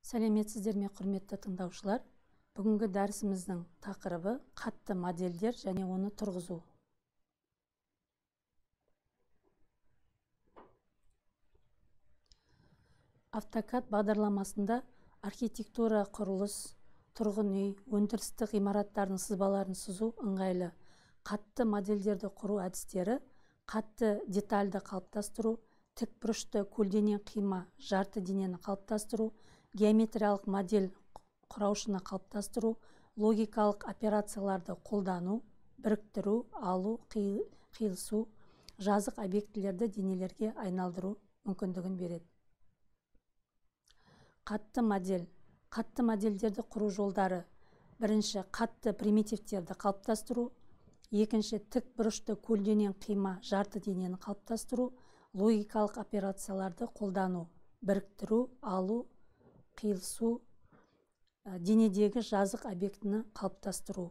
Сәлеметсіздер ме, құрметті тыңдаушылар? Бүгінгі дәрісіміздің тақырыбы қатты модельдер және оны тұрғызу. AutoCAD бағдарламасында архитектура, құрылыс, тұрғын үй, өндірістік ғимараттардың сызбаларын сызу ыңғайлы. Қатты модельдерді құру әдістері: қатты детальді қалыптастыру, тікбұрышты көлденең қима жарты денені қалыптастыру, геометриялық модель құраушыны қалыптастыру, логикалық операцияларды қолдану, біріктіру, алу, қиылысу, жазық объектілерді денелерге айналдыру мүмкіндігін береді. Қатты модель. Қатты модельдерді құру жолдары: бірінші, қатты примитивтерді қалыптастыру; екінші, тік бұрышты көлденең қима жарты денені қалыптастыру, логикалық операцияларды қолдану, біріктіру, алу, қиылысу, денедегі жазық объектіні қалыптастыру.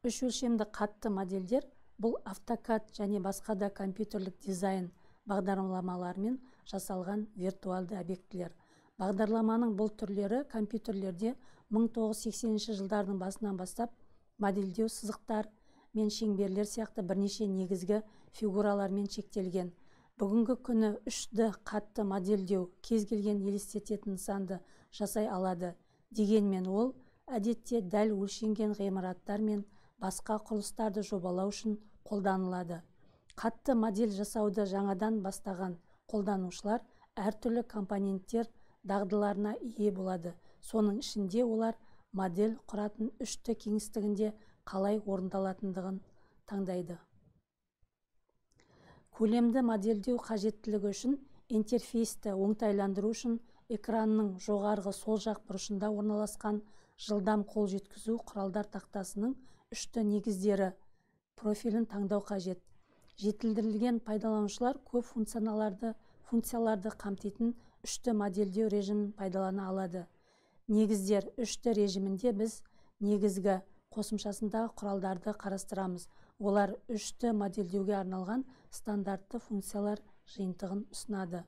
Үш өлшемді қатты модельдер бұл AutoCAD және басқа да компьютерлік дизайн бағдарламаларымен жасалған виртуалды объектілер. Бағдарламаның бұл түрлері компьютерлерде 1980 жылдардың басынан бастап модельдеу сызықтар мен шеңберлер сияқты бірнеше негізгі фигуралармен шектелген. Бүгінгі күні 3D қатты модельдеу кез келген елестететін нысанды жасай алады. Дегенмен ол әдетте дәл өлшенген ғимараттар мен басқа құрылыстарды жобалау үшін қолданылады. Қатты модель жасауды жаңадан бастаған қолданушылар әртүрлі компоненттер дағдыларына ие болады. Соның ішінде олар модель құратын 3D кеңістігінде қалай орындалатындығын таңдайды. Көлемді модельдеу қажеттілігі үшін интерфейсті оңтайландыру үшін экранның жоғарғы сол жақ бұрышында орналасқан жылдам қол жеткізу құралдар тақтасының 3D негіздері профилін таңдау қажет. Жетілдірілген пайдаланушылар көп функцияларды қамтитын 3D модельдеу режимін пайдалана алады. Негіздер 3D режимінде біз негізгі қосымшасындағы құралдарды қарастырамыз. Олар 3D модельдеуге арналған стандартты функциялар жиынтығын ұсынады.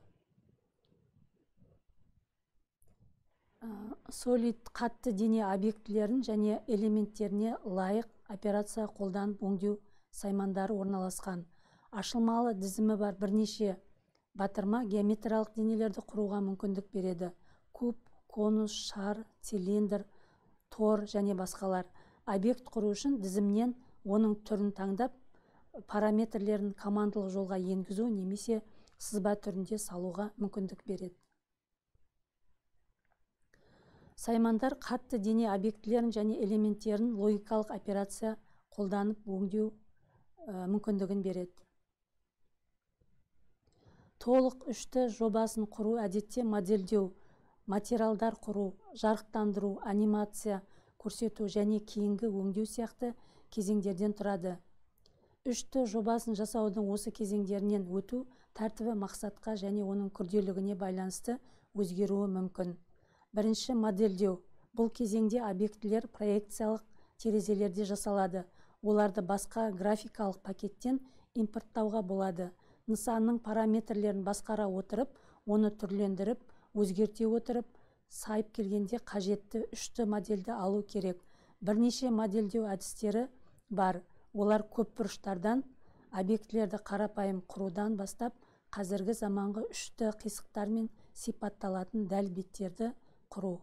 Solid қатты дене объектілерін және элементтеріне лайық операция қолданып өңдеу саймандары орналасқан. Ашылмалы дізімі бар бірнеше батырма геометриялық денелерді құруға мүмкіндік береді. Куб, конус, шар, цилиндр, тор және басқалар. Объект құру үшін дізімнен оның түрін таңдап, параметрлерін командалық жолға енгізу немесе сызба түрінде салуға мүмкіндік береді. Саймандар қатты дене объектілерін және элементтерін логикалық операция қолданып өңдеу мүмкіндігін береді. Толық 3D жобасын құру әдетте модельдеу, материалдар құру, жарықтандыру, анимация көрсету және кейінгі өңдеу сияқты кезеңдерден тұрады. 3D жобасын жасаудың осы кезеңдерінен өту тәртібі мақсатқа және оның күрделілігіне байланысты өзгеруі мүмкін. Бірінші, модельдеу. Бұл кезеңде объектілер проекциялық терезелерде жасалады. Оларды басқа графикалық пакеттен импорттауға болады. Нысанның параметрлерін басқара отырып, оны түрлендіріп, өзгерте отырып, сайып келгенде қажетті 3D модельді алу керек. Бірнеше модельдеу әдістері бар. Олар көп бұрыштардан объектілерді қарапайым құрудан бастап, қазіргі заманғы 3D қисықтармен сипатталатын дәл беттерді құру.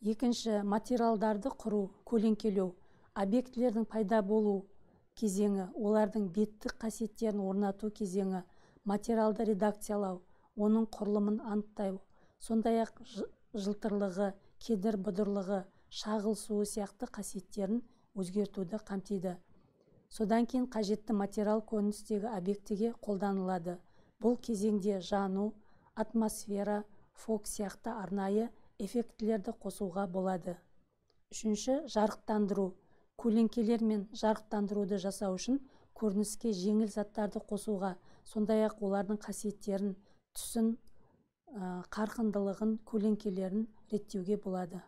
Екінші, материалдарды құру, көлеңкелеу. Объектілердің пайда болу кезеңі, олардың беттік қасиеттерін орнату кезеңі, материалды редакциялау, оның құрылымын анықтау, сондай-ақ жылтырлығы, кедір бұдырлығы, шағылысуы сияқты қасиеттерін өзгертуді қамтиды. Содан кейін қажетті материал көріністегі объектіге қолданылады. Бұл кезеңде жану, атмосфера, фок сияқты арнайы эффектілерді қосуға болады. Үшінші, жарықтандыру. Көлеңкелер мен жарықтандыруды жасау үшін көрініске жеңіл заттарды қосуға, сондай-ақ олардың қасиеттерін, түсін, қарқындылығын, көлеңкелерін реттеуге болады.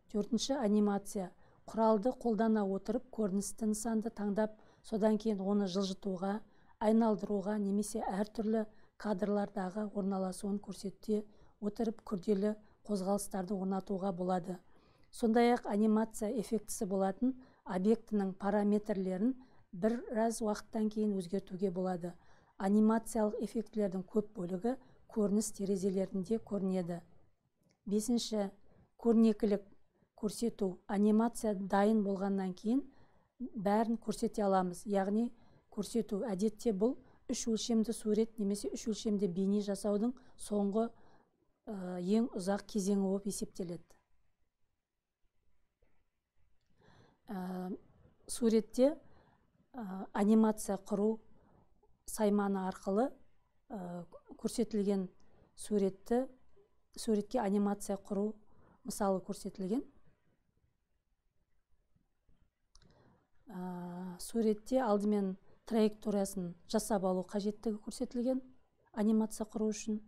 Төртінші, анимация. Құралды қолдана отырып көріністі нысанды таңдап, содан кейін оны жылжытуға, айналдыруға немесе әртүрлі кадрлардағы орналасуын көрсете отырып күрделі қозғалыстарды орнатуға болады. Сондай-ақ анимация эффектісі болатын объектінің параметрлерін біраз уақыттан кейін өзгертуге болады. Анимациялық эффектілердің көп бөлігі көрініс терезелерінде көрінеді. 5. Көрнекілік көрсету. Анимация дайын болғаннан кейін бәрін көрсете аламыз. Яғни көрсету. Әдетте бұл 3 өлшемді сурет немесе 3 өлшемді бейне жасаудың соңғы ең ұзақ кезеңі болып есептеледі. Суретте анимация құру сайманы арқылы көрсетілген суретке анимация құру мысалы көрсетілген. Суретте алдымен траекториясын жасап алу қажеттігі көрсетілген анимация құру үшін.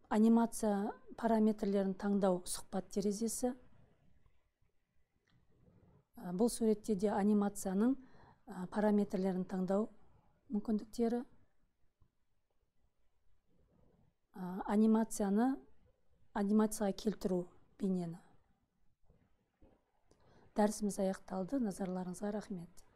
Анимация параметрлерін таңдау сұхбат терезесі. Бұл суретте де анимацияның параметрлерін таңдау мүмкіндіктері. Анимацияға келтіру бейнені. Дәрісіміз аяқталды. Назарларыңызға рахмет.